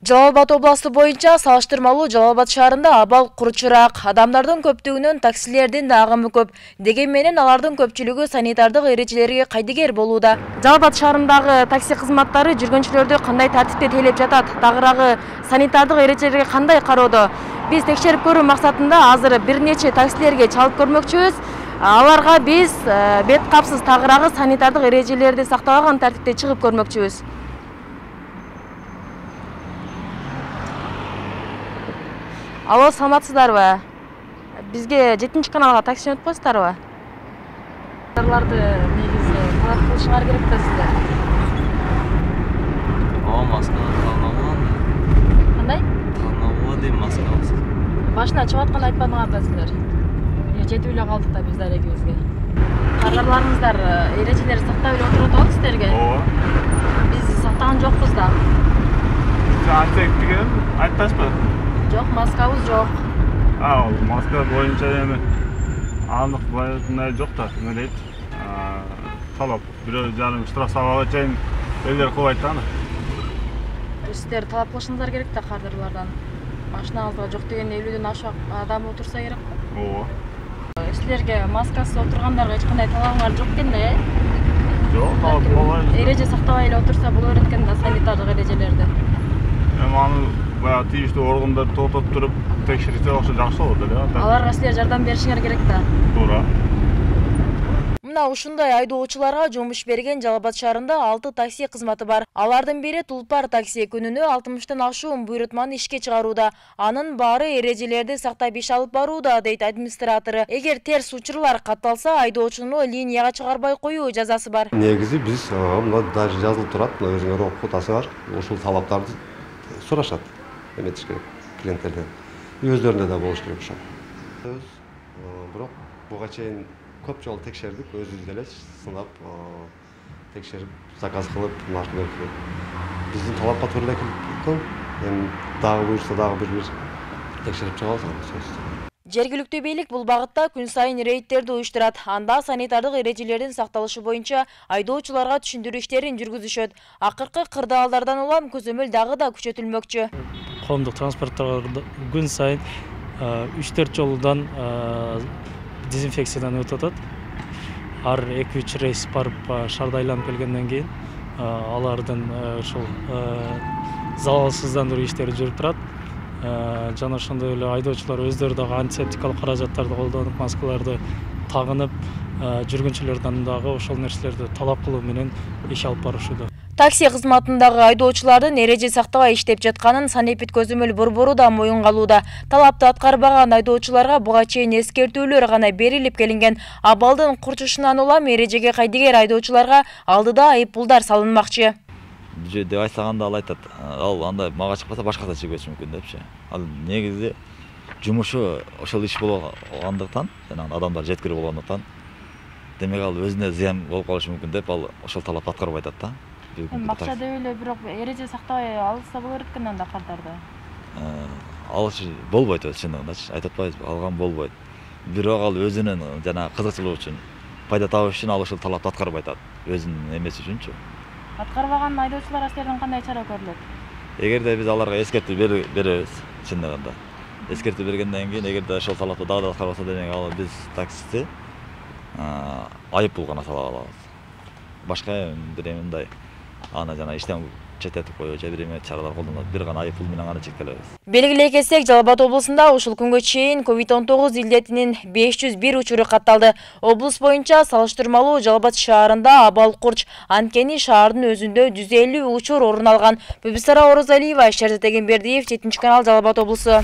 Жалал Абад областы боюнча салыштырмалуу Жалал Абад шаарында абал курчураак, адамдардын көптүгүнөн таксилердин да агымы көп. Деген менен алардын көпчүлүгү санитардык эрежелерге кайдыгер болууда. Жалал Абад шаарындагы такси кызматтары жүргүнчүлөрдү кандай тартипте тейлеп жатат, тагыраагы санитардык эрежелерге кандай кароодо? Биз текшерип көрүү максатында азыр бир нече таксилерге чалып көрмөкчүбүз. Аларга биз бет капсыз тагыраагы санитардык эрежелерди сактабаган тартипте чыгып көрмөкчүбүз. Алло, саламатсыздарбы? Бизге 7-чи каналга такси жөнөтүп коесуздарбы? Аларды негизи талап кылышыңар керек да сиздер. Маска танабы. Кандай? Танабы дейм, маскабыз. Башына чыгып атканды айтпадыңар да сиздер. Жетип эле калдык да биз дарегибизге. Кардарларыңыздар эрежелерди сактап эле отуруп атабы сиздерге? Ооба. Биз сактаган жокпуз да. Сиз антек деген айтпайсызбы? Жок, маскабыз жок. Маска боюнча эми анык мындай жок да, эме дейт. Талап 1,5 штраф салууга чейин элдер кылбайт да аны. Сиздер талап кылышыңыздар керек да кардарлардан. Машинаңызда жок дегенде 50дөн ашык адам отурса керек да. Ооба. Силерге маскасыз отургандарга эч кандай талабыңар жок экен да, Жок, талап болбойт. Эреже сактабай эле отурса боло берет экен да санитардык эрежелерди. Эми аны баягы тийиштүү органдар токтотуп туруп текшерсе ошо жакшы болот эле. Аларга силер жардам беришиңер керек да. Туура. Мына ушундай айдоочуларга жумуш берген Жалал Абад шаарында 6 такси кызматы бар. Алардын бири Тулпар такси күнүнө 60тан ашуун буйрутманы ишке чыгарууда. Анын баары эрежелерди сактап иш алып барууда, дейт администратору. Эгер терс учурлар катталса, айдоочуну линияга чыгарбай коюу жазасы бар. Негизи биз мына даже жазылып турат, өзүңөр окуп атасыңар, ушул талаптарды сурашат. Эметиш керек клиенттерден. Өздөрүндө да болуш керек ошол. Бирок буга чейин көп жолу текшердик, өзүбүз деле сынап текшерип, заказ кылып, машина берип. Биздин талапка туура эле келген. Эми дагы буюрса дагы бир текшерип чыгабыз сөзсүз. Жергиликтүү бийлик бул багытта күн сайын рейдтерди уюштурат. Анда санитардык эрежелердин сакталышы боюнча айдоочуларга түшүндүрүү иштерин жүргүзүшөт. Акыркы кырдаалдардан улам көзөмөл дагы да күчөтүлмөкчү. Коомдук транспорттор күн сайын 3-4 жолудан дезинфекциядан өтүп атат. Ар 2-3 рейс барып шаарда айланып келгенден кийин алардын ушул залалсыздандыруу иштери жүрүп турат. Жана ошондой эле айдоочулар өздөрү дагы антисептикалык каражаттарды колдонуп, маскаларды тагынып, жүргүнчүлөрдөн дагы ошол нерселерди талап кылуу менен иш алып барышууда. Такси кызматындагы айдоочулардын эреже сактабай иштеп жатканын санэпид көзөмөл борбору да моюнга алууда. Талапты аткарбаган айдоочуларга буга чейин эскертүүлөр гана берилип келинген. Абалдын курчушунан улам эрежеге кайдыгер айдоочуларга алдыда айыппулдар салынмакчы. Деп айтсаганда ал айтат, ал андай мага чыкпаса башкасына чыгып кетиши мүмкүн депчи. Ал негизи жумушу ошол иш болгондуктан, жана адамдар жеткирип болгондуктан, демек ал өзүнө зыян болуп калышы мүмкүн деп ал ошол талапты аткарбай атат да. Максат деп эле бирок эреже сактабай алса боло берет экен анда кардарды. Алыш болбойт өз чындыгындачы, айтып атпайбызбы, алган болбойт. Бирок ал өзүнүн жана кызыкчылыгы үчүн, пайда табыш үчүн ал ошол талапты аткарбай атат, өзүнүн эмеси үчүнчү. Аткарбаган айдоочуларга силерден кандай чара көрүлөт? Эгерде биз аларга эскертүү беребиз чындыгында. Эскертүү бергенден кийин эгерде ошол талапты дагы да аткарбаса, демек ал биз таксисти айыппул гана сала алабыз. Башка бир мындай аны жана иштен четтетип коюу же бир эме чаралар колдонот. Бир гана айыппул менен гана чектелебиз. Белгилей кетсек, Жалал Абад облусунда ушул күнгө чейин COVID-19 илдетинин 501 учуру катталды. Облус боюнча салыштырмалуу Жалал Абад шаарында абал курч, анткени шаардын өзүндө 150 учур орун алган. Бүбүсара Орозалиева, Шерзат Эгембердиев, 7-чи канал, Жалал Абад облусу.